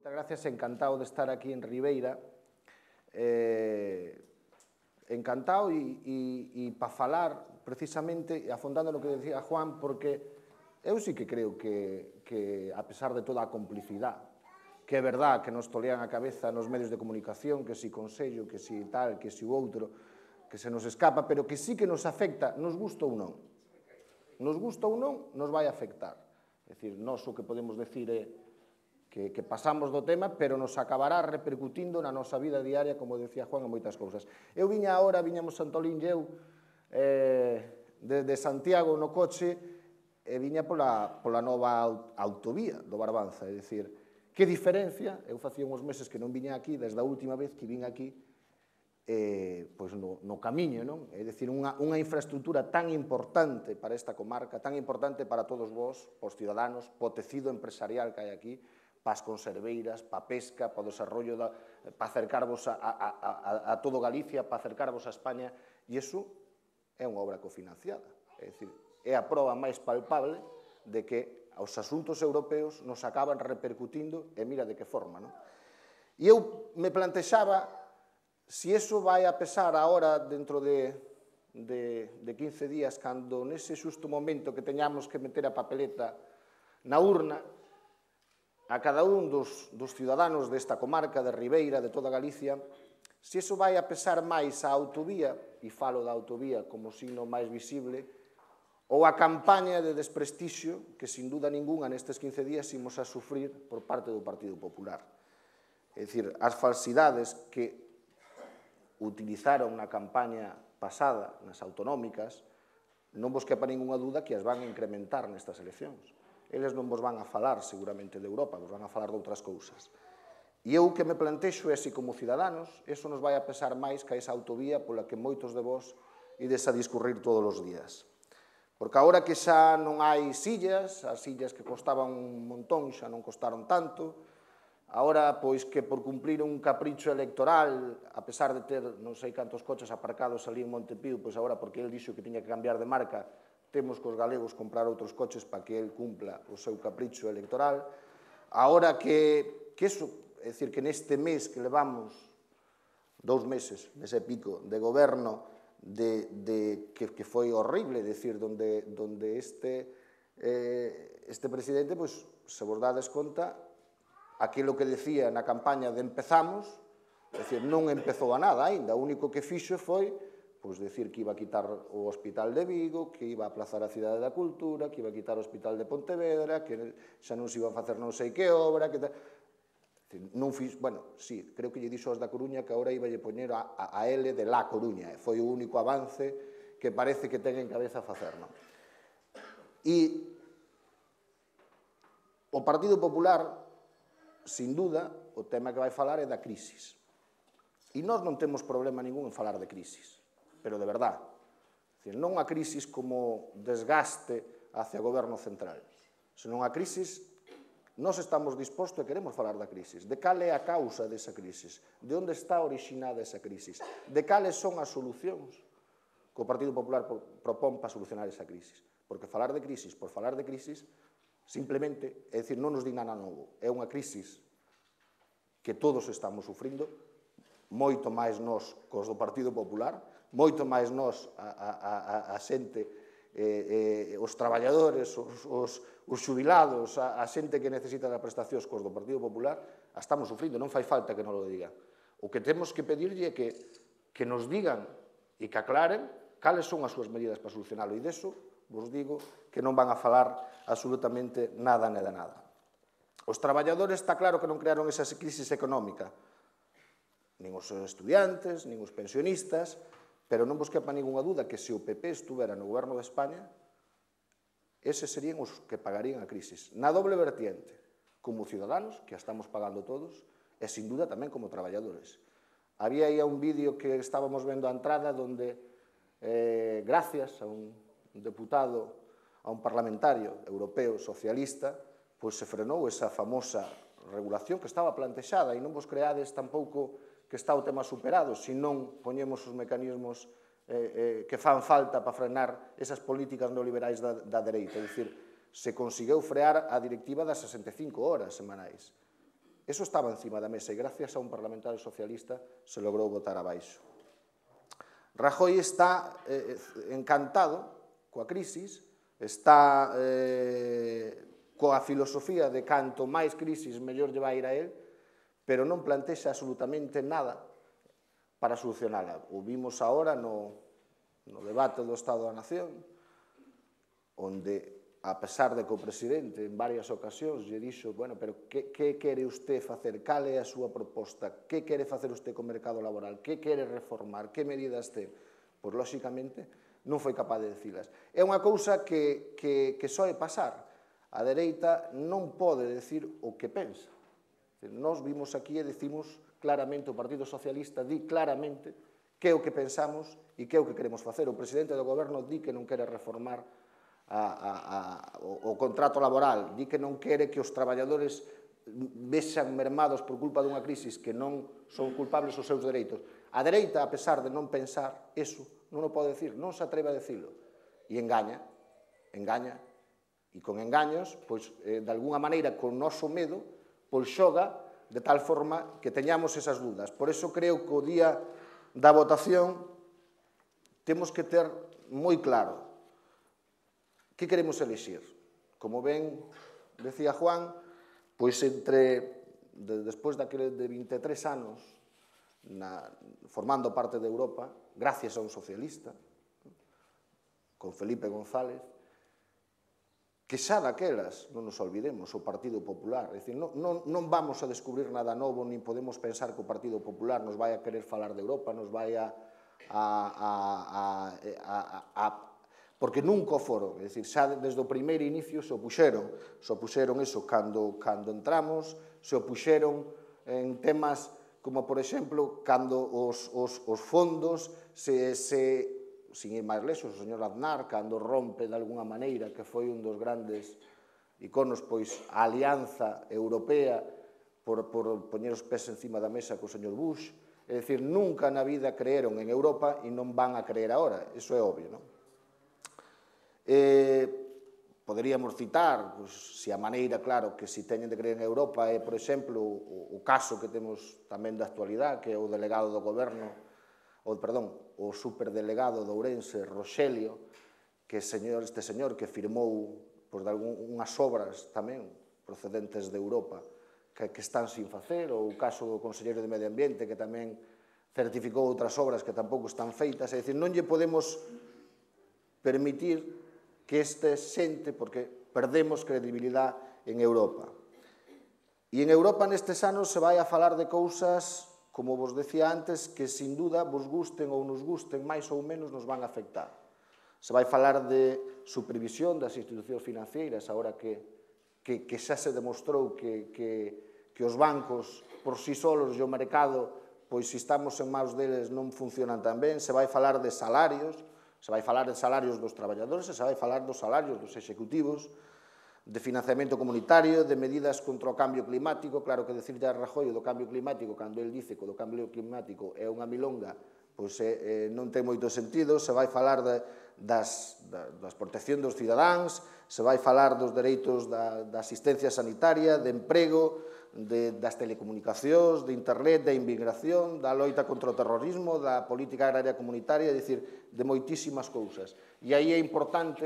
Moitas gracias, encantado de estar aquí en Ribeira. Encantado e para falar precisamente, afondando no que decía Juan, porque eu sí que creo que a pesar de toda a complicidade, que é verdad que nos tolean a cabeza nos medios de comunicación, que si Consello, que si tal, que si o outro, que se nos escapa, pero que sí que nos afecta, nos gusta ou non. Nos gusta ou non, nos vai afectar. É dicir, nós o que podemos decir é que pasamos do tema, pero nos acabará repercutindo na nosa vida diaria, como decía Juan, en moitas cousas. Eu viñamos Santolín e eu, desde Santiago no coche, e viña pola nova autovía do Barbanza, é dicir, que diferencia, eu facía uns meses que non viña aquí, desde a última vez que vin aquí, pois no camiño, non? É dicir, unha infraestructura tan importante para esta comarca, tan importante para todos vós, os cidadanos, po tecido empresarial que hai aquí, para as conserveiras, para a pesca, para o desarrollo, para acercarvos a todo Galicia, para acercarvos a España, e iso é unha obra cofinanciada. É dicir, é a proba máis palpable de que os asuntos europeos nos acaban repercutindo, e mira de que forma, non? E eu me plantexaba se iso vai a pesar agora dentro de 15 días, cando nese xusto momento que teñamos que meter a papeleta na urna, a cada un dos cidadanos desta comarca, de Ribeira, de toda Galicia, se iso vai a pesar máis a autovía, e falo da autovía como signo máis visible, ou a campaña de desprestixio que, sin duda ninguna, nestes 15 días imos a sufrir por parte do Partido Popular. É dicir, as falsidades que utilizaron na campaña pasada, nas autonómicas, non vos quepa ninguna duda que as van a incrementar nestas eleccións. Eles non vos van a falar, seguramente, de Europa, vos van a falar de outras cousas. E eu que me plantexo é se, como cidadanos, eso nos vai a pesar máis que a esa autovía pola que moitos de vós ides a discurrir todos os días. Porque agora que xa non hai sillas, as sillas que costaban un montón xa non costaron tanto, agora, pois, que por cumplir un capricho electoral, a pesar de ter non sei cantos coches aparcados ali en Montepío, pois agora, porque el dixo que tiña que cambiar de marca, temos que os galegos comprar outros coches para que el cumpla o seu capricho electoral. Agora que eso, é dicir, que neste mes que levamos 2 meses, nese pico de goberno, que foi horrible, é dicir, donde este presidente, pois, se vos dades conta, aquilo que decía na campaña de empezamos, é dicir, non empezou a nada ainda, o único que fixo foi pois decir que iba a quitar o Hospital de Vigo, que iba a aplazar a Cidade da Cultura, que iba a quitar o Hospital de Pontevedra, que xa non se iba a facer non sei que obra, que non fiz, bueno, sí, creo que lle dixo aos da Coruña que agora iba a poñer a L de La Coruña, foi o único avance que parece que ten en cabeza facer, non? E o Partido Popular, sin duda, o tema que vai falar é da crisis. E nós non temos problema ningún en falar de crisis, pero de verdade. Non a crisis como desgaste hacia o goberno central, senón a crisis, nós estamos dispostos e queremos falar da crisis, de cal é a causa desa crisis, de onde está originada esa crisis, de cales son as solucións que o Partido Popular propón para solucionar esa crisis. Porque falar de crisis por falar de crisis, simplemente, é dicir, non nos di nada novo, é unha crisis que todos estamos sufrindo, moito máis nós cos do Partido Popular, moito máis nós a xente, os traballadores, os xubilados, a xente que necesita da prestacións cos do Partido Popular, a estamos sufrindo, non fai falta que nos lo digan. O que temos que pedirlle é que nos digan e que aclaren cales son as súas medidas para solucionarlo, e deso vos digo que non van a falar absolutamente nada. Os traballadores está claro que non crearon esa crisis económica, nin os estudiantes, nin os pensionistas, pero non vos quepa ninguna duda que se o PP estuvera no goberno de España, eses serían os que pagarían a crisis. Na doble vertiente, como cidadanos, que a estamos pagando todos, e sin duda tamén como traballadores. Había aí un vídeo que estábamos vendo a entrada donde, gracias a un deputado, a un parlamentario europeo socialista, pois se frenou esa famosa regulación que estaba plantexada, e non vos creades tampouco que está o tema superado, se non poñemos os mecanismos que fan falta para frenar esas políticas neoliberais da dereita. É dicir, se conseguiu frear a directiva das 65 horas semanais. Eso estaba encima da mesa e gracias a un parlamentario socialista se logrou botar abaixo. Rajoy está encantado coa crisis, está coa filosofía de canto máis crisis mellor lle vai ir a él, pero non plantexa absolutamente nada para solucionala. O vimos agora no debate do Estado da Nación, onde, a pesar de que o presidente en varias ocasións lle dixo, bueno, pero que quere usted facer? Cal é a súa proposta? Que quere facer usted co mercado laboral? Que quere reformar? Que medidas ten? Pois, lóxicamente, non foi capaz de dicilas. É unha cousa que soe pasar. A dereita non pode decir o que pensa. Nós vimos aquí e decimos claramente, o Partido Socialista di claramente que é o que pensamos e que é o que queremos facer. O presidente do goberno di que non quere reformar o contrato laboral, di que non quere que os traballadores vexan mermados por culpa dunha crisis que non son culpables os seus dereitos. A dereita, a pesar de non pensar eso, non o pode decir, non se atreve a decirlo. E engaña, e con engaños, pois, de alguna maneira, con noso medo, pois xoga de tal forma que teñamos esas dudas. Por eso creo que o día da votación temos que ter moi claro que queremos elixir. Como ben decía Juan, pois despois daquele de 23 anos formando parte de Europa, gracias a un socialista, con Felipe González, que xa daquelas, non nos olvidemos, o Partido Popular, é dicir, non vamos a descubrir nada novo, nin podemos pensar que o Partido Popular nos vai a querer falar de Europa, nos vai porque nunca o foron, é dicir, xa desde o primeiro inicio se opuxeron eso cando entramos, se opuxeron en temas como, por exemplo, cando os fondos, sin ir máis lexos, o señor Aznar, cando rompe de alguna maneira, que foi un dos grandes iconos, pois, a alianza europea por poñer os pés encima da mesa co señor Bush, é dicir, nunca na vida creeron en Europa e non van a creer agora, iso é obvio, non? Poderíamos citar, se a maneira, claro, que se teñen de creer en Europa é, por exemplo, o caso que temos tamén da actualidade, que é o delegado do goberno, o superdelegado de Ourense, Roxelio, que este señor que firmou unhas obras tamén procedentes de Europa que están sin facer, ou o caso do conselleiro de Medio Ambiente que tamén certificou outras obras que tampouco están feitas, é dicir, non lle podemos permitir que este xente, porque perdemos credibilidade en Europa. E en Europa nestes anos se vai a falar de cousas, como vos decía antes, que sin duda vos gusten ou nos gusten, máis ou menos nos van a afectar. Se vai falar de supervisión das institucións financeiras, agora que xa se demostrou que os bancos por si solos e o mercado, pois se estamos en maus deles non funcionan tan ben. Se vai falar de salarios, se vai falar de salarios dos traballadores, se vai falar dos salarios dos executivos, de financiamento comunitario, de medidas contra o cambio climático. Claro que decirle a Rajoy do cambio climático, cando el dice que o cambio climático é unha milonga, pois non ten moito sentido. Se vai falar das protección dos cidadáns, se vai falar dos dereitos da asistencia sanitaria, de emprego, das telecomunicacións, de internet, da inmigración, da loita contra o terrorismo, da política agraria comunitaria, é dicir, de moitísimas cousas. E aí é importante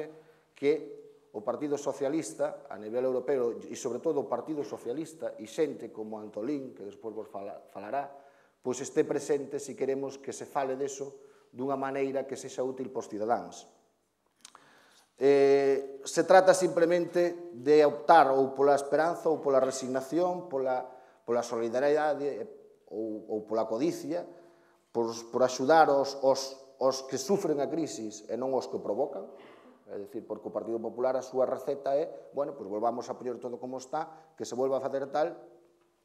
que o Partido Socialista, a nivel europeo, e sobre todo o Partido Socialista, e xente como Antolín, que despois vos falará, pois este presente se queremos que se fale deso dunha maneira que sexa útil para os cidadáns. Se trata simplemente de optar ou pola esperanza ou pola resignación, pola solidaridade ou pola codicia, por axudar os que sufren a crisis e non os que provocan. É dicir, porque o Partido Popular, a súa receta é, bueno, pois volvamos a poñer todo como está, que se volva a facer tal,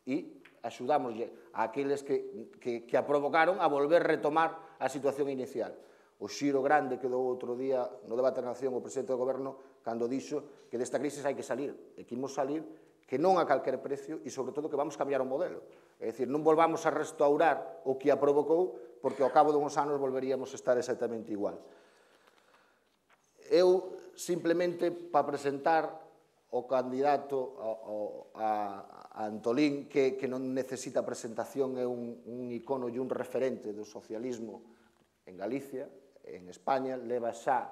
e axudámoslle a aqueles que a provocaron a volver a retomar a situación inicial. O xiro grande que dou outro día no debate da Nación o presidente do goberno cando dixo que desta crisis hai que salir, e que imos salir, que non a calquer precio, e sobre todo que vamos cambiar o modelo. É dicir, non volvamos a restaurar o que a provocou, porque ao cabo de uns anos volveríamos a estar exactamente igual. Eu, simplemente, para presentar o candidato a Antolín, que non necesita presentación, é un icono e un referente do socialismo en Galicia, en España, leva xa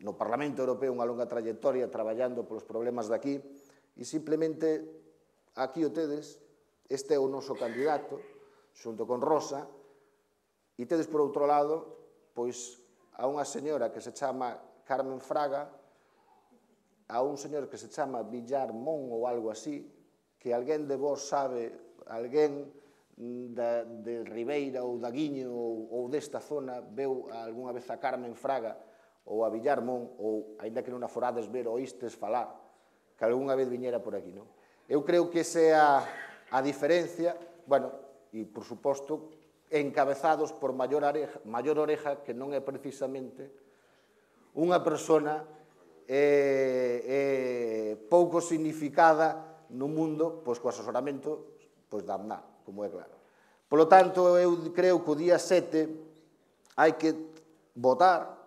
no Parlamento Europeo unha longa trayectoria traballando polos problemas de aquí, e simplemente aquí o tedes, este é o noso candidato, xunto con Rosa, e tedes por outro lado, pois, a unha señora que se chama Carmen Fraga, a un señor que se chama Villar Mon ou algo así, que alguén de vos sabe, alguén de Ribeira ou da Guiño ou desta zona veu algunha vez a Carmen Fraga ou a Villar Mon, ou, ainda que non a forades ver, oístes falar, que algunha vez viñera por aquí, non? Eu creo que esa é a diferencia, bueno, e, por suposto, encabezados por Maior Oreja, que non é precisamente unha persona pouco significada no mundo, pois, co asesoramento da Aznar, como é claro. Polo tanto, eu creo que o día 7 hai que votar,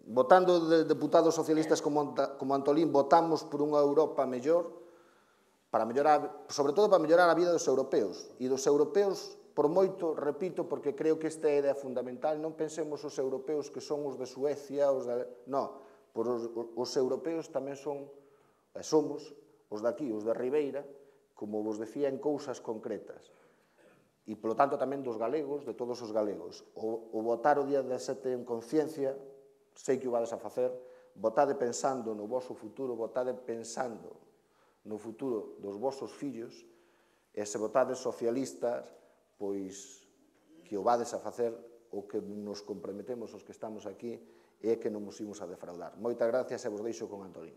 votando de deputados socialistas como Antolín, votamos por unha Europa mellor, sobre todo para mellorar a vida dos europeos, e dos europeos, por moito, repito, porque creo que esta é a idea fundamental, non pensemos os europeos que son os de Suecia, non, os europeos tamén somos os de aquí, os de Ribeira, como vos decía, en cousas concretas. E, polo tanto, tamén dos galegos, de todos os galegos. O votar o día 17 en conciencia, sei que o vades a facer, votade pensando no voso futuro, votade pensando no futuro dos vosos fillos, e se votades socialistas, pois que o vades a facer, o que nos comprometemos os que estamos aquí, é que non nos imos a defraudar. Moitas gracias e vos deixo con Antolín.